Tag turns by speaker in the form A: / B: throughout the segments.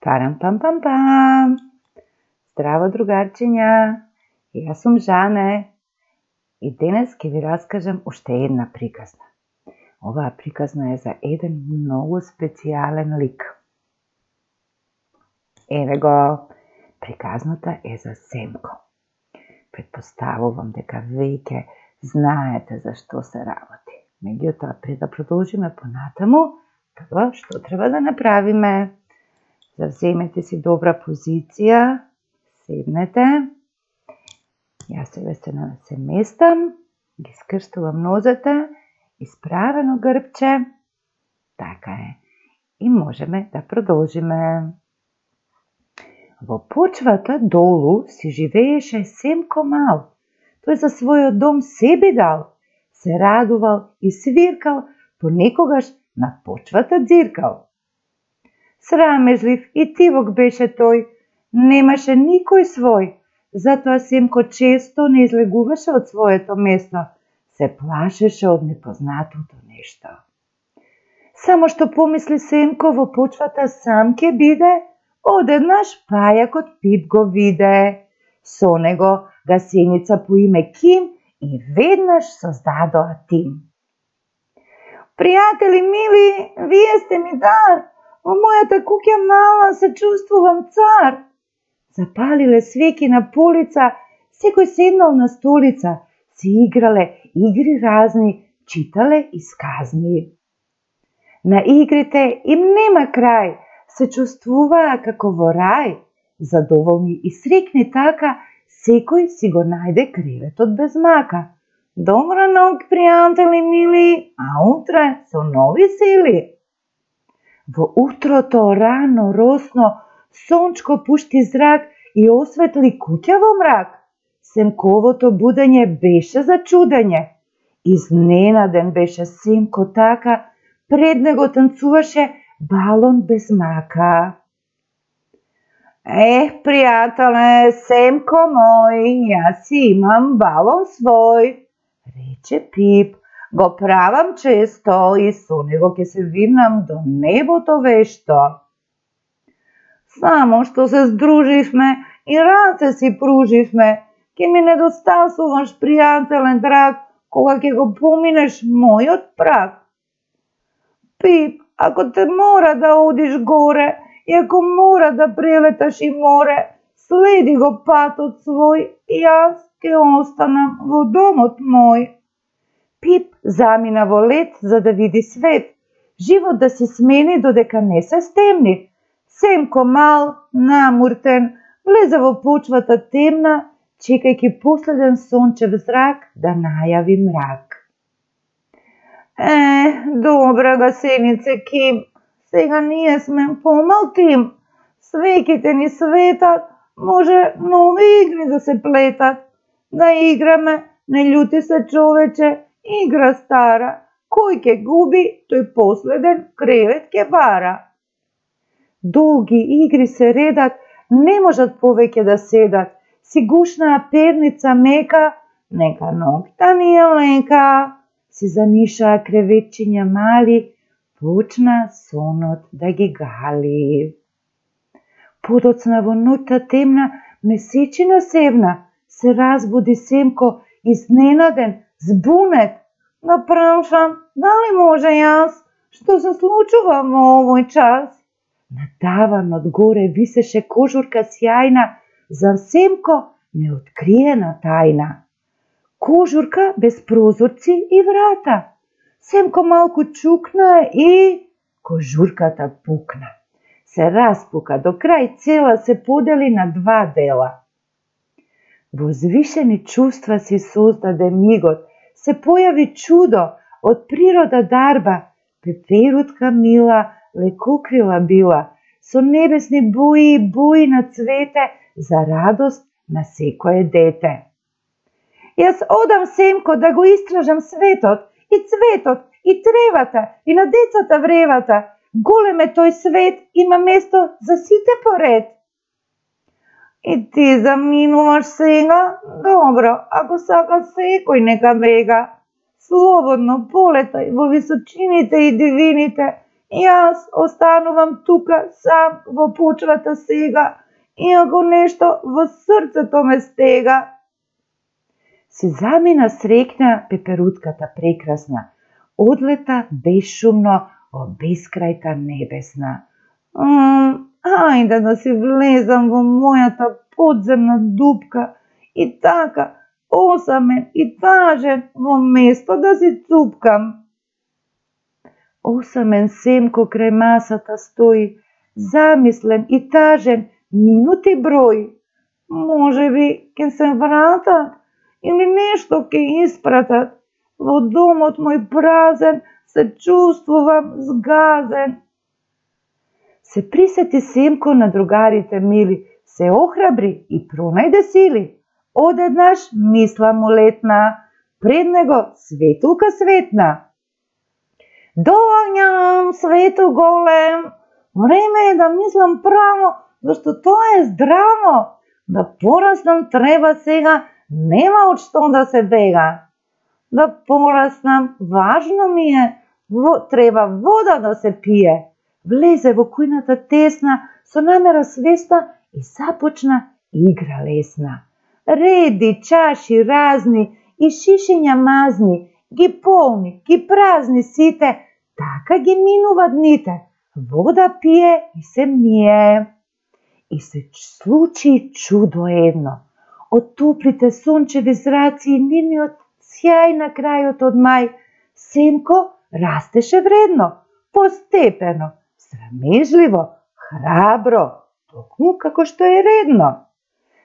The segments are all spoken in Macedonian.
A: Парам пам пам пам. Здраво другарчиња, јас сум Жане и денес ќе ви раскажам уште една приказна. Оваа приказна е за еден многу специјален лик. Еве го, приказната е за Семко. Предпоставувам дека веќе знаете за што се работи. Меѓутоа, пред да продолжиме понатаму, прво што треба да направиме? Завземете си добра позиција, седнете. Јас се местам, ги скрстувам нозете, исправено грбче. Така е. И можеме да продолжиме. Во почвата долу си живееше Семко мал. Тој за својот дом се би дал, се радувал и свиркал, понекогаш на почвата дзиркал. Срамежлив и тивок беше тој, немаше никој свој, затоа Семко често не излегуваше од своето место, се плашеше од непознатото нешто. Само што помисли Семко во почвата сам ке биде, одеднаш пајакот Пип го виде. Со него гасеница по име Ким и веднаш создадоа тим. Пријатели мили, вие сте ми дар, во мојата куќа мала се чувствувам цар. Запалиле свеќи на полица, секој седнал на столица, се играле игри разни, читале и сказни. На игрите им нема крај, се чувствуваа како во рај, задоволни и срекни така, секој си го најде креветот без мака. Добра ноќ, пријатели мили, а утре со нови сили. Во утрото рано росно сончко пушти зрак и осветли куќа во мрак. Семковото будење беше за чудење. Изненаден беше Семко така, пред него танцуваше балон без мака. Пријателе, Семко мој, јас си имам балон свој, рече Пип, го правам често и со него ќе се вирнам до небото вешто. Само што се здруживме и раце си пруживме, ќе ми недостасуваш, пријателен драг, кога ќе го поминеш мојот праг. Пип, ако те мора да одиш горе, и ако мора да прелеташ и море, следи го патот свој, јас ќе останам во домот мој. Пип замина во лет за да види свет, живот да се смени додека не се стемни. Семко мал, намуртен, влезе во почвата темна, чекајќи последен сончев зрак да најави мрак. Добра гасенице Ким, сега ние сме помал тим. Свеќите ни светат, може нови игри да се плетат. Да играме, не љути се човече, игра стара. Кој ќе губи, тој последен кревет ќе бара. Долги игри се редат, не можат повеќе да седат. Си гушнаа перница мека, нека ноќта ни е лека. Си занишаа креветчиња мали, почна сонот да ги гали. Подоцна во ноќта темна, месечина севна, се разбуди Семко, изненаден, збунет. Да прашам, дали може јас, што се случува во овој час? На таванот горе висеше кожурка сјајна, за Семко неоткриена тајна. Кожурка без прозорци и врата. Семко малку чукна и кожурката пукна. Се распука до крај цела, се подели на два дела. Возвишени чувства си создаде мигот, се појави чудо, од природа дарба, пеперутка мила, лекокрила била, со небесни бои и бои на цвете, за радост на секое дете. Јас одам, Семко, да го истражам светот, и цветот, и тревата, и на децата вревата. Голем е тој свет, има место за сите поред. И ти заминуваш сега? Добро, ако сака секој нека бега. Слободно полетај во височините и дивините, Јас останувам тука сам во почвата сега, иако нешто во срцето ме стега. Си замина срекна пеперутката прекрасна, одлета бесшумно во бескрајта небесна. Ајде да си влезам во мојата подземна дупка и така, осамен и тажен, во место да си цупкам. Осамен Семко крај масата стои, замислен и тажен, минути брои. Можеби ќе се вратат или нешто ќе испратат. Во домот мој празен се чувствувам згазен. Се присети Семко на другарите мили, се охрабри и пронајде сили. Одеднаш мисла му летна, пред него светулка светна. Доаѓам, свету голем, време е да мислам право, зашто тоа е здраво. Да пораснам треба сега, нема од што да се бега. Да пораснам, важно ми е, треба вода да се пие. Влезе во кујната тесна, со намера свеста и започна игра лесна. Реди, чаши разни и шишиња мазни, ги полни, ги празни сите, така ги минува дните, вода пие и се мие. И се случи чудо едно. Од топлите сончеви зраци и нивниот сјај на крајот од мај, Семко растеше вредно, постепено, срамежливо, храбро, токму како што е редно.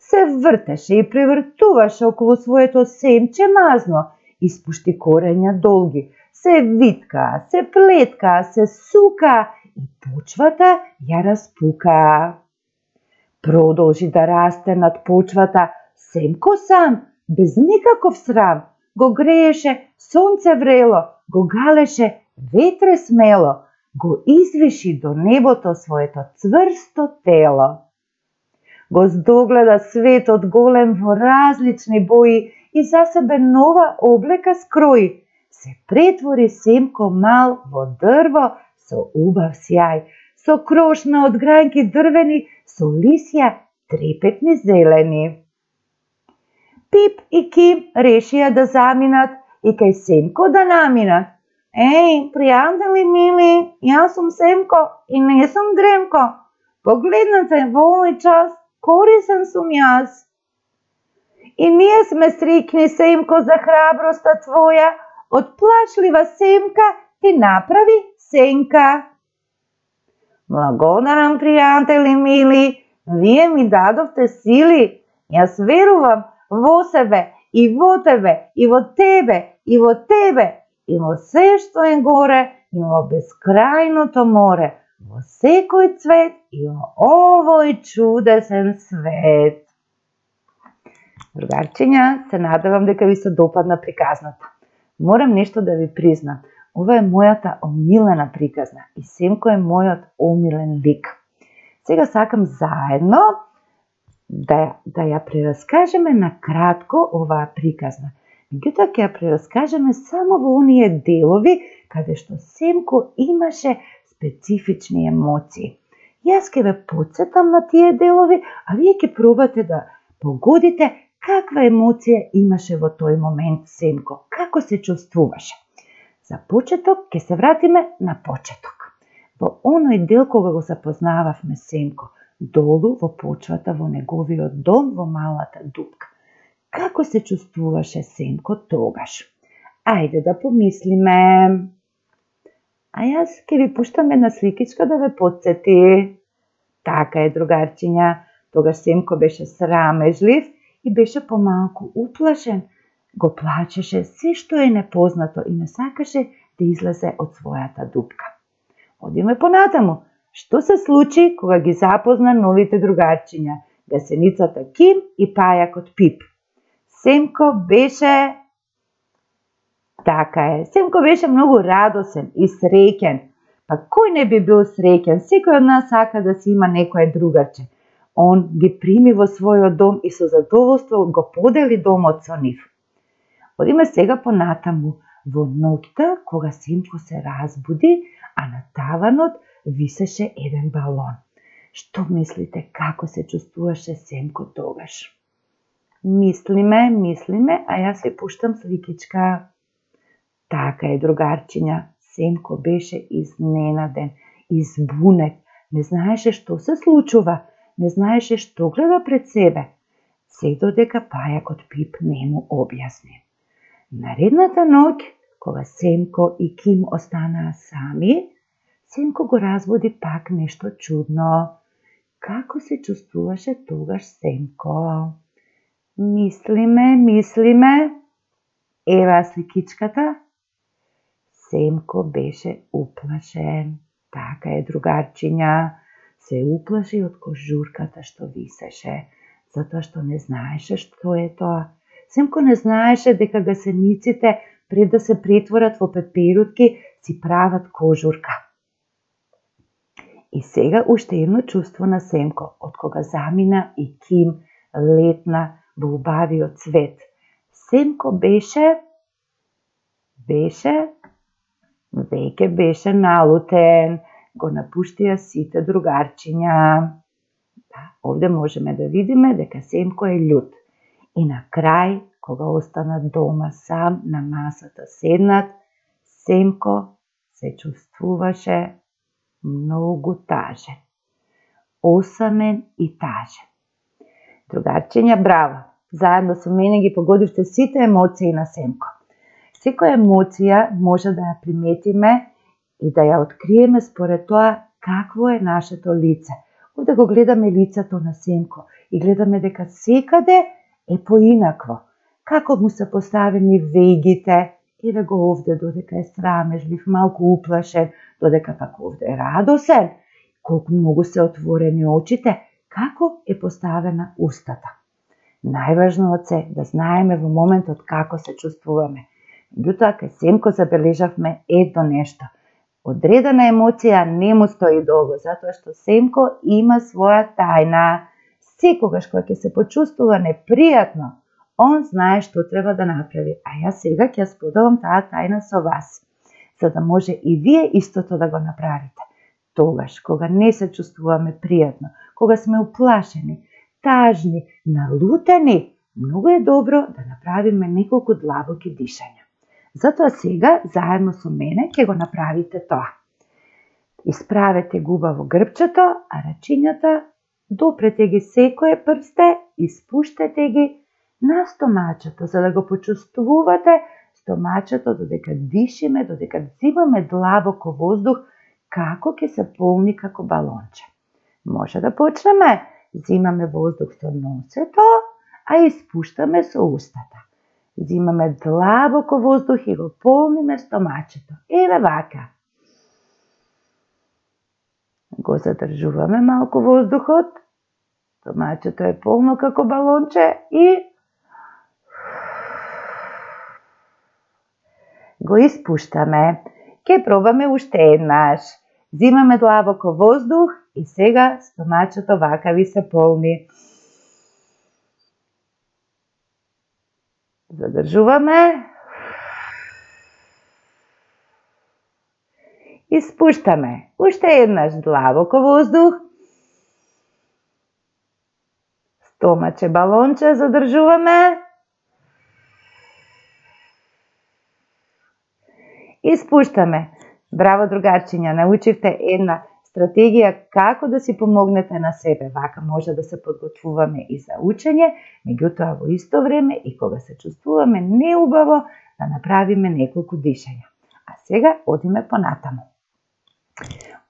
A: Се вртеше и превртуваше околу своето семче мазно, испушти корења долги, се витка, се плетка, се сука и почвата ја распука. Продолжи да расте над почвата, Семко сам, без никаков срам, го грееше сонце врело, го галеше ветре смело, го извиши до небото своето цврсто тело. Го здогледа светот голем во различни бои и за себе нова облека скрои. Се претвори Семко мал во дрво со убав сјај, со крошна од гранки дрвени, со лисја трепетни зелени. Пип и Ким решија да заминат и кај Семко да наминат. Еј, пријатели мили, јас сум Семко и не сум Дремко. Погледнете во овој час, корисен сум јас. И ние сме срикни, Семко, за храброста твоја, од плачлива семка ти направи сенка. Благодарам, пријатели мили, вие ми дадовте сили. Јас верувам во себе, и во тебе, и во тебе, и во тебе, и во се што е горе, и во бескрајното море, во секој цвет и во овој чудесен свет. Другарчиња, се надевам дека ви се допадна приказната. Морам нешто да ви признам. Ова е мојата омилена приказна и Семко е мојот омилен лик. Сега сакам заедно да ја прераскажеме на кратко оваа приказна. Меѓутоа ќе ја прераскажеме само во оние делови каде што Семко имаше специфични емоции. Јас ќе ве потсетам на тие делови, а вие ќе пробате да погодите каква емоција имаше во тој момент Семко, како се чувствуваше. За почеток ќе се вратиме на почеток. Во оној дел кога го запознававме Семко, долу во почвата во неговиот дом во малата дупка. Како се чувствуваше Семко тогаш? Ајде да помислиме. А јас ќе ви пуштам една сликичка да ве потсети. Така е, другарчиња, тогаш Семко беше срамежлив и беше помалку уплашен. Го плачеше се што е непознато и не сакаше да излезе од својата дупка. Одиме понатаму. Што се случи кога ги запозна новите другарчиња, гасеницата Ким и пајакот Пип? Семко беше... Така е, Семко беше многу радосен и среќен. Па кој не би бил среќен? Секој од нас сака да си има некое другарче. Он ги прими во својот дом и со задоволство го подели домот со нив. Одиме сега понатаму. Во ноќта, кога Семко се разбуди, а на таванот висеше еден балон. Што мислите како се чувствуваше Семко тогаш? Мислиме, а јас ви пуштам сликичка. Така е, другарчиња, Семко беше изненаден, избунет, не знаеше што се случува, не знаеше што гледа пред себе. Се додека пајакот Пип не му објасни. Наредната ноќ, кога Семко и Ким останаа сами, Семко го разбуди пак нешто чудно. Како се чувствуваше тогаш Семко? Мислиме. Ева сликичката. Семко беше уплашен. Така е, другарчиња. Се уплаши од кожурката што висеше, затоа што не знаеше што е тоа. Семко не знаеше дека гасениците, пред да се претворат во пеперутки, си прават кожурка. И сега уште едно чувство на Семко, од кога замина и Ким летна во убавиот цвет. Семко веќе беше налутен, го напуштија сите другарчиња. Овде можеме да видиме дека Семко е љут. И на крај, кога останат дома сам на масата седнат, Семко се чувствуваше многу тажен. Осамен и тажен. Другарчиња, браво! Заедно со мене ги погодивте сите емоции на Семко. Секоја емоција може да ја приметиме и да ја откриеме според тоа какво е нашето лице. Овде го гледаме лицето на Семко и гледаме дека секаде е поинакво. Како му се поставени вегите, еве го овде додека е срамежлив, малку уплашен, додека пак овде е радосен, колку многу се отворени очите, како е поставена устата. Најважното е да знаеме во моментот како се чувствуваме. Меѓутоа, кај Семко забележавме едно нешто. Одредена емоција не му стои долго, затоа што Семко има своја тајна. Секогаш кога ќе се почувствува непријатно, он знае што треба да направи, а јас сега ќе споделам таа тајна со вас, за да може и вие истото да го направите. Тогаш, кога не се чувствуваме пријатно, кога сме уплашени, тажни, налутени, многу е добро да направиме неколку длабоки дишања. Затоа сега, заедно со мене, ќе го направите тоа. Исправете губа во грбчето, а рачињата допрете ги секое прсте и спуштете ги на стомачето, за да го почувствувате стомачето додека дишиме, додека взимаме длабоко воздух, како ќе се полни како балонче. Може да почнеме. Зимаме воздух со носето, а испуштаме со устата. Зимаме длабоко воздух и го полниме стомачето. Еве вака. Го задржуваме малку воздухот. Стомачето е полно како балонче и го испуштаме. Ке пробаме уште еднаш. Зимаме длабоко воздух и сега стомачето вака ви се полни. Задржуваме. И спуштаме. Уште еднаш длабоко воздух. Стомаче балонче задржуваме. И спуштаме. Браво, другарчиња, научивте една стратегија како да си помогнете на себе. Вака може да се подготвуваме и за учење, меѓутоа во исто време и кога се чувствуваме неубаво, да направиме неколку дишања. А сега одиме понатаму.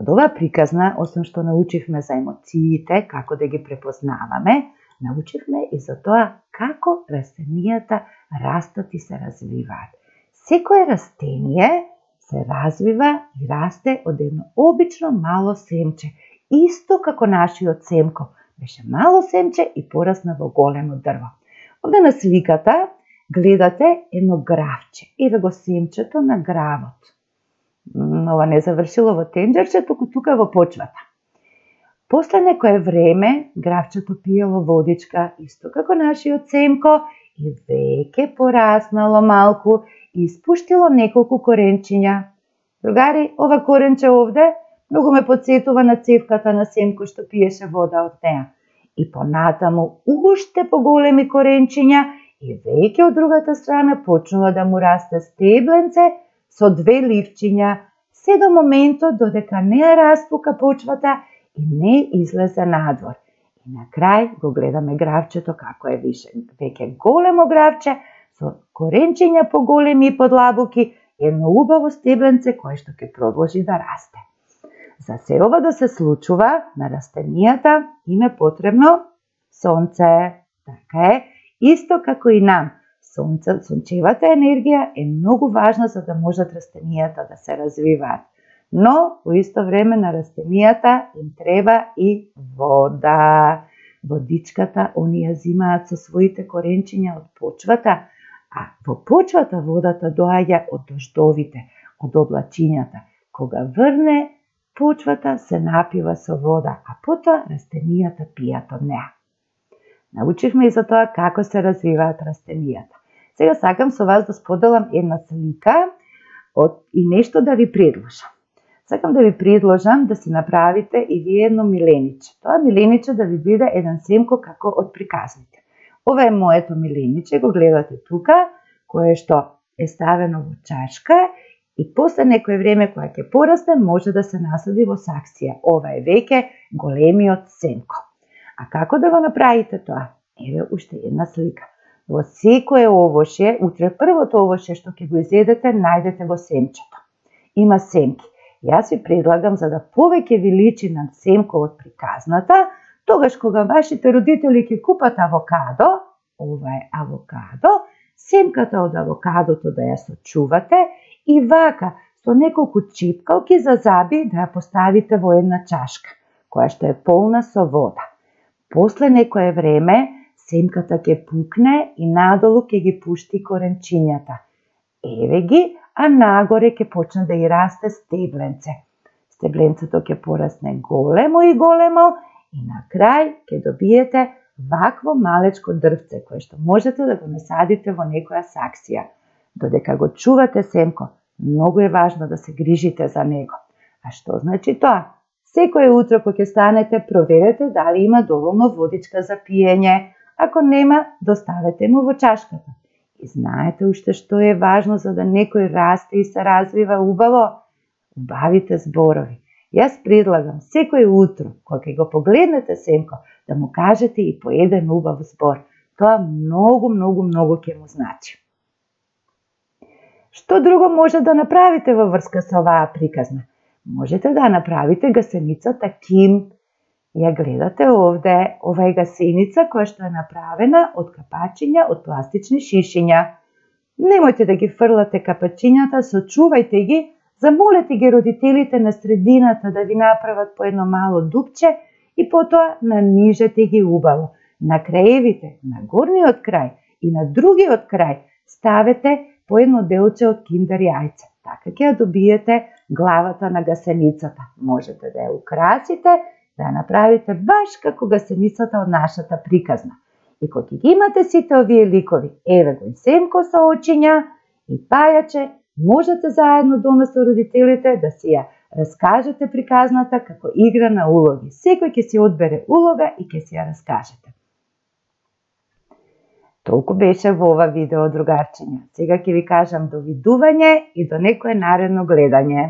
A: Од оваа приказна, освен што научивме за емоциите, како да ги препознаваме, научивме и за тоа како растенијата растат и се развиваат. Секое растение се развива и расте од едно обично мало семче, исто како нашиот Семко. Беше мало семче и порасна во големо дрво. Овде на сликата гледате едно гравче. Еве го семчето на гравот. Ова не завршило во тенџерче, туку тука во почвата. После некое време гравчето пиело водичка, исто како нашиот Семко, и веќе пораснало малку и испуштило неколку коренчиња. Другари, ова коренче овде многу ме подсетува на цевката на Семко што пиеше вода од неа. И понатаму уште поголеми коренчиња и веќе од другата страна почнува да му расте стебленце со 2 ливчиња, се до моментот додека не ја распука почвата и не излезе надвор. И на крај го гледаме гравчето како е веќе големо гравче со коренчиња поголеми и подлабоки, едно убаво стебленце кое што ќе продолжи да расте. За се ова да се случува на растенијата им е потребно сонце. Така е, исто како и нам. Сончевата енергија е многу важна за да можат растенијата да се развиваат. Но, во исто време на растенијата им треба и вода. Водичката они ја зимаат со своите коренчиња од почвата, а во почвата водата доаѓа од дождовите, од облачињата. Кога врне, почвата се напива со вода, а потоа растенијата пијат од неа. Научихме и за тоа како се развиваат растенијата. Сега сакам со вас да споделам една слика и нешто да ви предложам. Сакам да ви предложам да си направите и вие едно милениче. Тоа милениче да ви биде еден Семко како од приказните. Ова е моето милениче, го гледате тука, кое што е ставено во чашка и после некое време кога ќе порасте може да се насади во саксија. Ова е веќе големиот Семко. А како да го направите тоа? Еве уште една слика. Во секое овошје, утре првото овошје што ќе го изедете, најдете го семчето. Има семки. Јас ви предлагам за да повеќе ви личи на Семко од приказната, тогаш кога вашите родители ќе купат авокадо, ова е авокадо, семката од авокадото да ја сочувате и вака со неколку чипкалки за заби да ја поставите во една чашка, која што е полна со вода. После некое време, семката ќе пукне и надолу ќе ги пушти коренчињата. Еве ги, а нагоре ќе почне да и расте стебленце. Стебленцето ќе порасне големо и големо и на крај ќе добиете вакво малечко дрвце, кое што можете да го насадите во некоја саксија. Додека го чувате Семко, многу е важно да се грижите за него. А што значи тоа? Секое утро кога ќе станете, проверете дали има доволно водичка за пиење. Ако нема, доставете му во чашката. И знаете уште што е важно за да некој расте и се развива убаво? Убавите зборови. Јас предлагам секој утро, кога ќе го погледнете Семко, да му кажете и по еден убав збор. Тоа многу ќе му значи. Што друго може да направите во врска со оваа приказна? Можете да направите гасеницата Ким. Ја гледате овде, ова е гасеница која што е направена од капачиња од пластични шишиња. Немојте да ги фрлате капачињата, сочувајте ги, замолете ги родителите на средината да ви направат по едно мало дупче и потоа нанижете ги убаво. На краевите, на горниот крај и на другиот крај ставете по едно делче од киндер јајце. Така ќе ја добиете главата на гасеницата. Можете да ја украсите, да ја направите баш како гасеницата од нашата приказна. И кога ги имате сите овие ликови, еве го и Семко со очиња и пајаче, можете заедно дома со родителите да си ја раскажете приказната како игра на улоги. Секој ќе си одбере улога и ќе си ја раскажете. Толку беше во ова видео, другарчиња. Сега ќе ви кажам довидување и до некое наредно гледање.